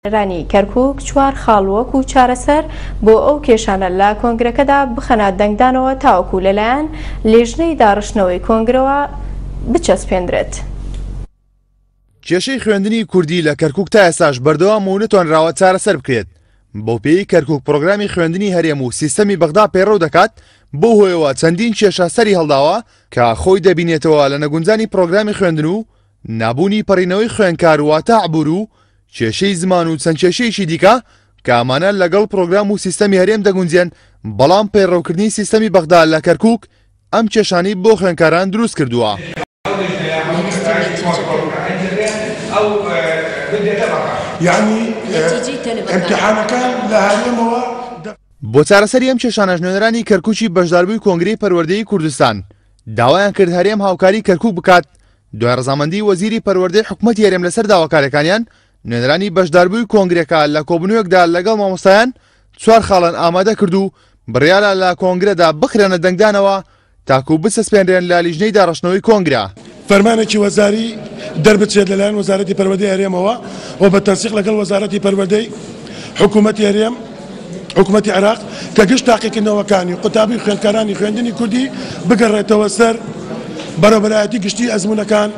نوێنەرانی کەرکوک چوار خاڵ وەکو چارەسەر بۆ ئەو کێشانە لە کۆنگرەکەدا بخەنە دەنگدانەوە تاوەکو لەلایەن لیژنەی داڕشتنەوەی کۆنگرەوە بچەسپێندرێت. کێشەی خوێندنی کوردی لە کەرکوک تا ئێستاش بەردەوامە و نەتوانراوە چارەسەر بکرێت، بەوپێیەی کەرکوک پڕۆگرامی خوێندنی هەرێم و سیستەمی بەغدا پەیڕەو دەکات، بەو هۆیەوە چەندین کێشە سەری هەڵداوە کە خۆی دەبینێتەوە لە نەگونجانی پڕۆگرامی خوێندن و نەبوونی پەڕینەوەی خوێندکار واتە عبور و کێشەی زمان و چەند کێشەیەکی دیکە کە ئەمانە لەگەڵ پرۆگرام و سیستەمی هەرێم دەگونجێن، بەڵام پەیڕەوکردنی سیستەمی بەغدا لە کەرکوک ئەم کێشانەی بۆ خوێندکاران دروست کردووە. بۆ چارەسەری ئەم کێشانەش نوێنەرانی کەرکوکی بەشداربووی کۆنگرەی پەروەردەیی کوردستان داوایان کرد هەرێم هاوکاری کەرکوک بکات دوای ڕەزامەندی وەزیری پەروەردەی حکومەتی هەرێم لەسەر داواکاریەکانیان، نوێنەرانی بەشداربووی کۆنگرەکە لە کۆبوونەوەیەکدا لەگەڵ مامۆستایان چوار خاڵیان ئامادە کرد و بڕیارە لە کۆنگرەدا بخرێنە دەنگدانەوە تاکو بچەسپێنرێن لە لیژنەی داڕشتنەوەی کۆنگرە. فەرمانێکی وەزاری دەربچێت لەلایەن وەزارەتی پەروەردەی هەرێمەوە و بە تەنسیق لەگەڵ وەزارەتی پەروەردەی حکوومەتی هەرێم، حکوومەتی عێراق کە گشت تاقیکردنەوەکانی قوتابی و خوێندکارانی خوێندنی کوردی بگەڕێتەوە سەر بەڕێوەبەرایەتی گشتی ئەزموونەکان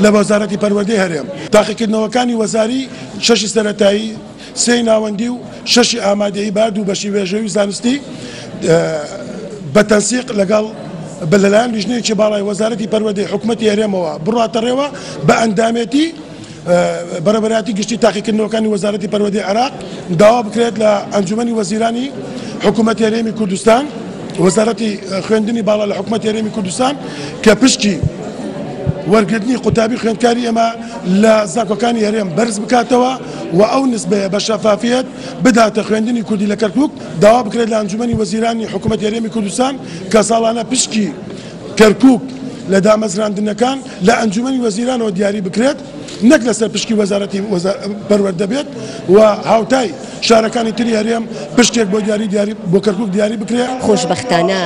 لە وەزارەتی پەروەردەی هەرێم. تاقیکردنەوەکانی وەزاری شەشی سەرەتایی، سێی ناوەندی و شەشی ئامادەیی بە هەردوو بەشی وێژەیی و زانستی بە تەنسیق لەگەڵ لەلایەن لیژنەیەکی باڵای وەزارەتی پەروەردەی حکوومەتی هەرێمەوە بڕواتەڕێوە بە ئەندامێتی بەڕێوەبەرایەتی گشتی تاقیکردنەوەکانی وەزارەتی پەروەردەی عێراق داوا بکرێت لە ئەنجومەنی وەزیرانی حکوومەتی هەرێمی کوردستان وەزارەتی خوێندنی باڵا لە حکوومەتی هەرێمی کوردستان کە پشکی وەرگرتنی قوتابی خوێندکاری ئێمە لە زانکۆکانی هەرێم بەرز بکاتەوە و ئەو نسبەیە بە شەفافیەت بداتە خوێندنی کوردی لە کەرکوک داوا بکرێت لە ئەنجومەنی وەزیرانی حکوومەتی هەرێمی کوردستان کە ساڵانە پشکی کەرکوک لە دامەزراندنەکان لە ئەنجومەنی وەزیرانەوە دیاری بکرێت نەک لەسەر پشکی وەزارەتی پەروەردە بێت و هاوتای شارەکانی تری هەرێم پشکێک بۆ دیاری دیاری بۆ کەرکوک دیاری بکرێت. خۆشبەختانە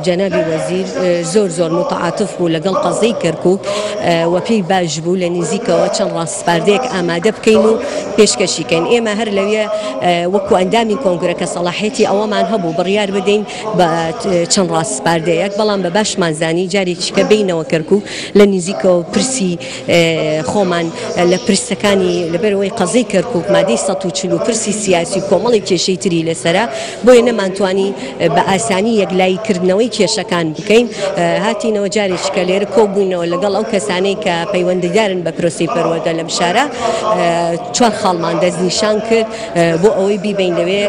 جەنابی وەزیر زۆر زۆر موتەعاتف بوو لەگەڵ قەزیەی کەرکوک و پێی باش بوو لە نزیکەوە چەند ڕاسپاردەیەک ئامادە بکەین و پێشکەشی کەین. ئێمە هەر لەوێ وەکو ئەندامی کۆنگرە کە سەڵاحیەتی ئەوەمان هەبوو بڕیار بدەین بە چەند ڕاسپاردەیەک، بەڵام بە باشمان زانی جارێکی کە بێینەوە کەرکوک لە نزیکەوە پرسی خۆمان لە پرسەکانی لەبەرئەوەی قەزیەی کەرکوک مادەی 140 و پرسی سیاسی و کۆمەڵێک کێشەی تری لەسەرە بۆیە نەمانتوانی بە ئاسانی یەکلایی کردنەوەی کێشەکان بکەین هاتینەوە جارێکی کە لێرە کۆبووینەوە لەگەڵ ئەو کەسانەی کە پەیوەندیدارن بە پرۆسەی پەروەردە لەم شارە چوار خاڵمان دەستنیشان کرد بۆ ئەوەی بیبەین لەوێ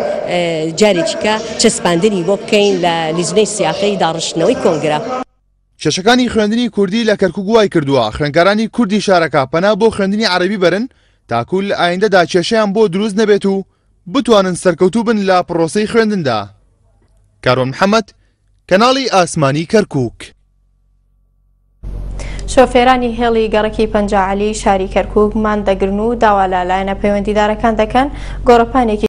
جارێکی کە چەسپاندنی بۆ بکەین لە لیژنەی سیاقەی داڕشتنەوەی کۆنگرە. کێشەکانی خوێندنی کوردی لە کەرکوک وای کردووە خوێندکارانی کوردی شارەکە پەنا بۆ خوێندنی عەرەبی بەرن تاکو لە ئایندەدا کێشەیان بۆ دروست نەبێت و بتوانن سەرکەوتوو بن لە پڕۆسەی خوێندندا. کاروان محەمەد، کەناڵی ئاسمانی کەرکوک. شۆفێرانی هێڵی گەڕەکی پەنجا عەلی شاری کەرکوک مان دەگرن و داوا لە لایەنە پەیوەندیدارەکان دەکەن گۆڕەپانێکی.